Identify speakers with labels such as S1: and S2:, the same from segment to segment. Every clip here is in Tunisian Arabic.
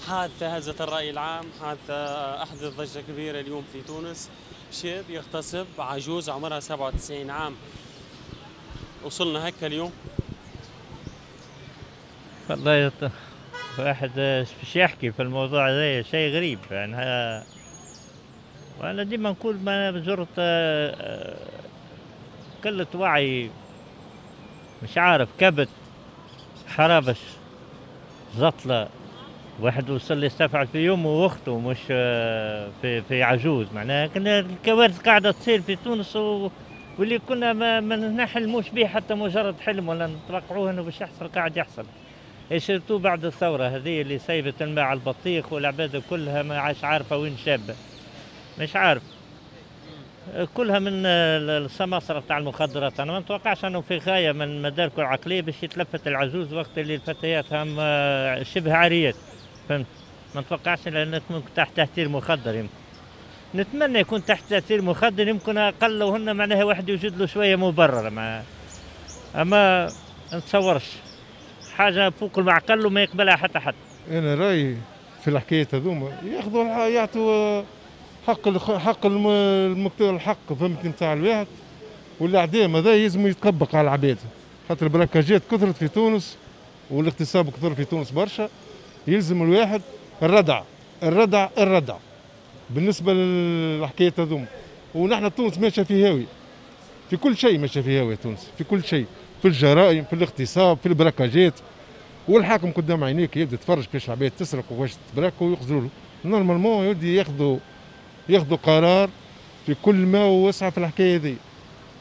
S1: حادثة هزت الرأي العام، حادثة أحدث ضجة كبيرة اليوم في تونس. شاب يغتصب عجوز عمرها 97 عام. وصلنا هكا اليوم.
S2: والله واحد باش يحكي في الموضوع هذا شيء غريب يعني. وانا ديما نقول ما زرت قلة وعي، مش عارف، كبت، حرابش، زطلة. واحد وصل يستفعل في يومه واخته مش في عجوز. معناها كنا الكوارث قاعدة تصير في تونس واللي كنا ما نحلموش به حتى مجرد حلم ولا نتوقعوه انه باش يحصل، قاعد يحصل. surtout بعد الثورة هذه اللي سيبت الماء على البطيخ والعباد كلها ما عادش عارفة وين شابة، مش عارف، كلها من السماسرة تاع المخدرات. أنا ما نتوقعش أنه في غاية من مداركه العقلية باش يتلفت العجوز وقت اللي الفتيات هم شبه عاريات، فهمت؟ ما نتوقعش لأنك ممكن تحت تأثير مخدر، يمكن نتمنى يكون تحت تأثير مخدر، يمكن أقل وهن معناها واحد يوجد له شوية مبرر، أما نتصورش حاجة فوق المعقل وما يقبلها حتى حد.
S3: أنا رأيي في الحكاية هذوما ياخذوا يعطوا حق الحق، فهمتني، نتاع الواحد. والاعدام هذا يلزم يتطبق على العباد، خاطر البراكاجات كثرت في تونس والاغتصاب كثر في تونس برشا. يلزم الواحد الردع الردع الردع بالنسبة للحكايه هذوما. ونحن تونس ماشية في هاوي، في كل شيء ماشية في هاوي تونس، في كل شيء، في الجرائم، في الاغتصاب، في البراكاجات. والحاكم قدام عينيك يبدا يتفرج كيفاش العباد تسرق وكيفاش تبراك ويخزروا له. normalement يبدا ياخذوا قرار في كل ما وسع في الحكاية هذه.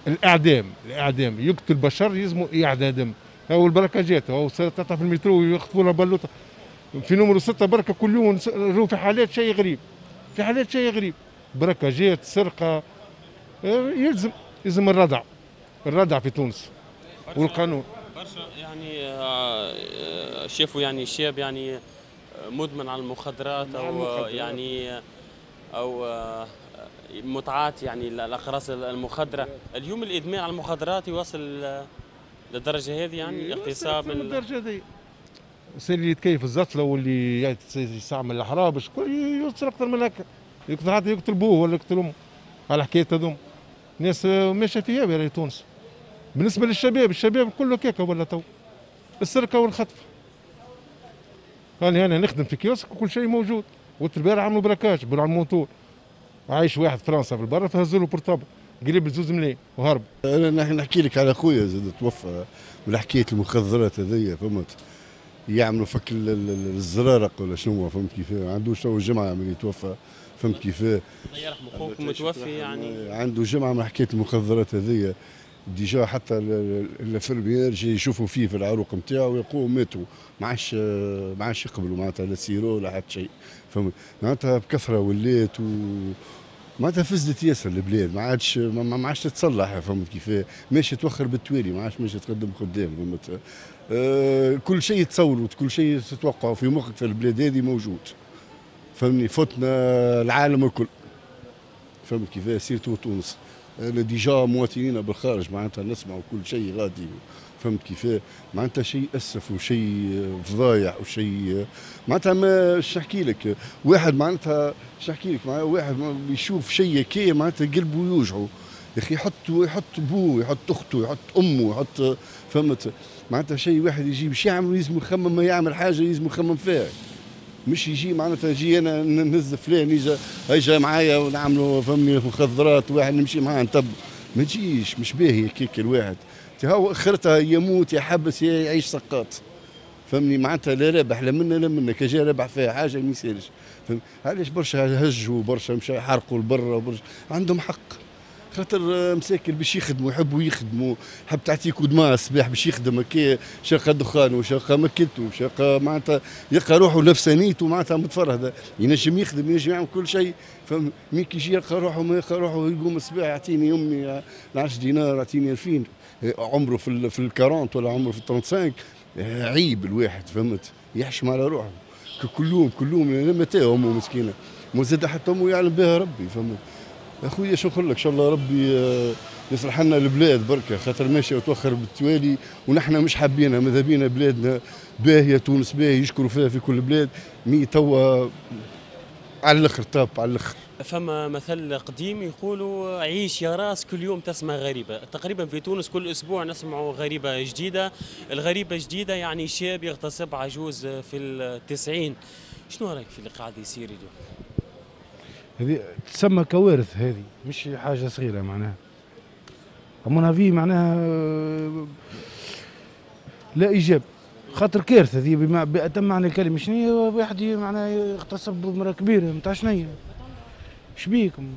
S3: الاعدام، الاعدام، يقتل بشر يلزموا اعدام. هو البركاجات، هو تطلع في المترو ويخطفوا لها بلوطه في نمرو 6 بركة كل يوم. في حالات شيء غريب، في حالات شيء غريب، بركاجات، سرقه. يلزم الردع، الردع في تونس والقانون.
S1: برشا يعني شافوا يعني شاب يعني مدمن على المخدرات او يعني او متعاطي يعني الاقراص المخدره. اليوم الادمان على المخدرات يوصل للدرجة هذه، يعني اغتصاب
S3: للدرجة هذه. اللي يتكيف الزطله واللي يستعمل الحرابش كل يوصل اكثر من هكا، يقتل حتى يقتل بوه ولا يقتل امه على حكاية هذوما. ناس ماشية فيها في تونس. بالنسبة للشباب، الشباب كله كيكة ولا تو السرقة والخطف. يعني انا نخدم في كيوسك وكل شيء موجود. والبارح عملوا braquage بالموتور، عايش واحد فرنسا في البر فهزوا له portable قريب 2 ملايين وهرب.
S4: انا نحكي لك على خويا زاد توفى من حكاية المخدرات هذيا، فهمت؟ يعملوا فك الزرارق ولا شنو، فهمت كيف؟ عندوش تو جمعه من يتوفى، فهمت كيف؟
S1: الله يرحمه خوك متوفي يعني
S4: عنده جمعه من حكاية المخدرات هذيا. déjà حتى ال infirmières يشوفوا فيه في العروق نتاعو ويقولوا ماتوا، ما عادش يقبلوا معناتها لا sirop لا حتى شيء، فهمت؟ معناتها بكثرة ولات معناتها فزدت ياسر البلاد، ما عادش تتصلح، فهمت كيف؟ ماشي توخر بالتوالي، ما عادش ماشي تقدم قدام، فهمت؟ كل شيء تصوروا، كل شيء تتوقعوا في مخك في البلاد هذه موجود، فهمني؟ فتنا العالم الكل، فهمت كيف؟ surtout تونس. انا déjà مواطنين بالخارج معناتها نسمعوا كل شيء غادي، فهمت كيف؟ معناتها شيء اسف وشيء فضايح وشيء معناتها ما نحكي لك. واحد معناتها نحكي لك، واحد يشوف شيء كي معناتها قلبه يوجعه يا اخي، يحط بوه، يحط اخته، يحط امه، يحط، فهمت؟ معناتها شيء واحد يجي باش يعمل لازم يخمم، ما يعمل حاجة لازم يخمم فيها، مش يجي معناتها يجي انا نهز فلان يجي معايا ونعملوا فهمني مخدرات، واحد نمشي معاه نتب، ما تجيش، مش باهي كيك الواحد. هاو اخرتها يموت يحبس يعيش سقاط، فهمني؟ معناتها لا رابح لا منا لا منا، كي جا رابح فيها حاجة ما يسالش، فهمت؟ علاش برشا هجوا برشا مشى حرقوا لبرا برشا، عندهم حق، خاطر مساكن باش يخدموا، يحبوا يخدموا، حب تعطيه coup de main الصباح باش يخدم كي شاقه دخان وشاقه مكتو وشاقه، معناتها يلقى روحه نفسانيته معناتها متفرهده، ينجم يخدم، ينجم يعمل كل شيء، فهم؟ mais كي يجي يلقى روحه ما يلقى روحه، يقوم الصباح يعطيني امي 10 دينار، يعطيني 2000، عمره في ال 40 ولا عمره في ال 35، عيب الواحد، فهمت؟ يحشم على روحه كل يوم كل يوم، متى امه مسكينه مزاد حتى امه يعلم بها ربي، فهمت؟ اخويا شو نقول لك، ان شاء الله ربي يصلح لنا البلاد بركة، خاطر ماشية وتوخر بالتوالي ونحن مش حابينها، ماذا بينا بلادنا باهيه، تونس باهيه، يشكروا فيها في كل بلاد، mais توا على الاخر top على الاخر.
S1: فما مثل قديم يقولوا عيش يا راس كل يوم تسمع غريبة، تقريبا في تونس كل اسبوع نسمع غريبة جديدة، الغريبة جديدة يعني شاب يغتصب عجوز في التسعين. شنو رايك في اللي قاعد يصير اليوم؟
S5: هذه تسمى كوارث، هذه مش حاجة صغيرة معناها. à mon avis معناها لا ايجاب، خاطر كارثة هذه بأتم معنى الكلمة. شنو واحد معناها يغتصب مرأة كبيرة نتاع شنيا؟ شبيكم؟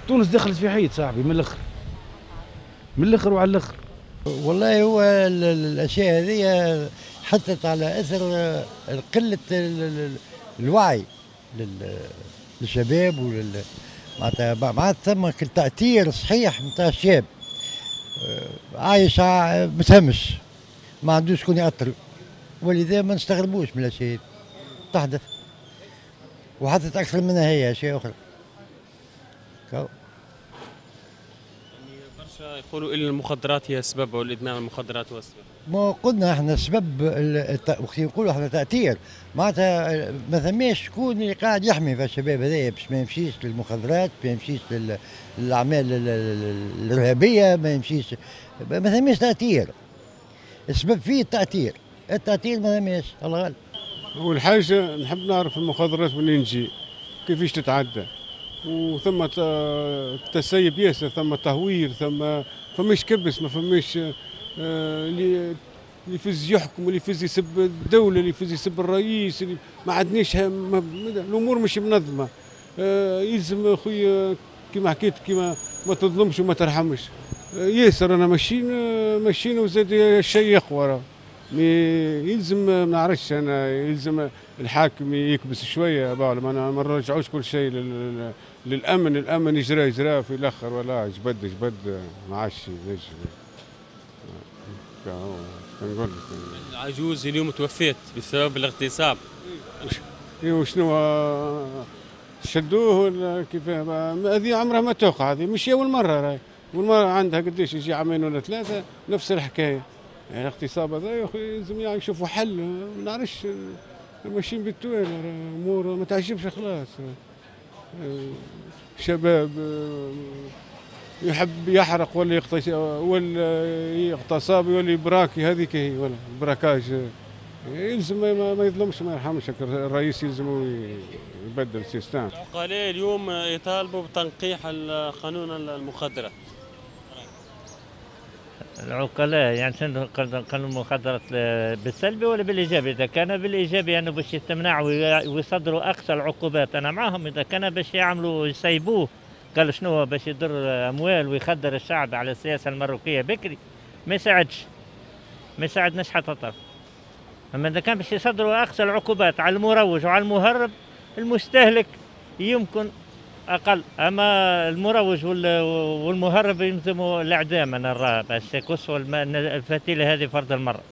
S5: تونس دخلت في حيط صاحبي من الاخر، من الاخر وعلى الاخر.
S6: والله هو الاشياء هذه حثت على اثر قلة الوعي للشباب ولل معناتها ما عاد ثم تأثير صحيح نتاع الشاب عايش متهمش، ما عندوش شكون يأثر، ولذا ما نستغربوش من الاشياء تحدث، وحدثت اكثر منها هي اشياء اخرى.
S1: يعني برشا يقولوا ان المخدرات هي السبب والادمان على المخدرات هو السبب.
S6: ما قلنا احنا السبب، وقت نقولوا احنا تأثير معناتها ما ثماش شكون اللي قاعد يحمي في الشباب هذايا باش ما يمشيش للمخدرات، ما يمشيش للاعمال الارهابية، ما يمشيش، ما ثماش تأثير. السبب فيه التأثير، التأثير ما ثماش، الله غالب.
S7: أول حاجة نحب نعرف المخدرات منين تجي، كيفاش تتعدى، وثم تسيب ياسر، ثم تهوير، ثم فماش كبس، ما فماش اللي يفز يحكم، اللي يفز يسب الدولة، اللي يفز يسب الرئيس، اللي ما عندناش الأمور مش منظمة. يلزم خويا كيما حكيت، كيما ما تظلمش وما ترحمش. ياسر أنا ماشيين وزاد الشيء يقوى. يلزم ما نعرفش انا، يلزم الحاكم يكبس شوية، ما نرجعوش كل شيء للامن، الامن يجرى في الاخر ولا جبد ما عادش ينجم. نقول لك
S1: العجوز اليوم توفيت بسبب الاغتصاب.
S7: ايوا شنو شدوه ولا كيف؟ هذه عمرها ما توقع، هذه مش اول مرة، راهي اول مرة عندها قداش يجي عامين ولا ثلاثة نفس الحكاية. يعني الاغتصاب هذا يا اخي لازم يعني يشوفوا حل، ما نعرفش ماشيين بالتوالي، امور ما تعجبش خلاص. شباب يحب يحرق ولا ولا يغتصب ولا يبراكي، هذيك هي ولا braquage. يلزم ما يظلمش ما يرحمش الرئيس، يلزم يبدل ال système.
S1: العقلاء اليوم يطالبوا بتنقيح القانون المخدرات.
S2: العقلاء يعني شنو قانون المخدرات بالسلبي ولا بالايجابي؟ اذا كان بالايجابي يعني باش يتمنعوا ويصدروا اقصى العقوبات انا معهم، اذا كان باش يعملوا يسيبوه قال شنو باش يضر اموال ويخدر الشعب على السياسة المروكيه بكري ما يساعدش، ما يساعدناش حتى طرف. اما اذا كان باش يصدروا اقصى العقوبات على المروج وعلى المهرب، المستهلك يمكن اقل، اما المروج والمهرب يلزموا الاعدام. انا نرى باش يقصوا الفتيله هذه فرد المرة.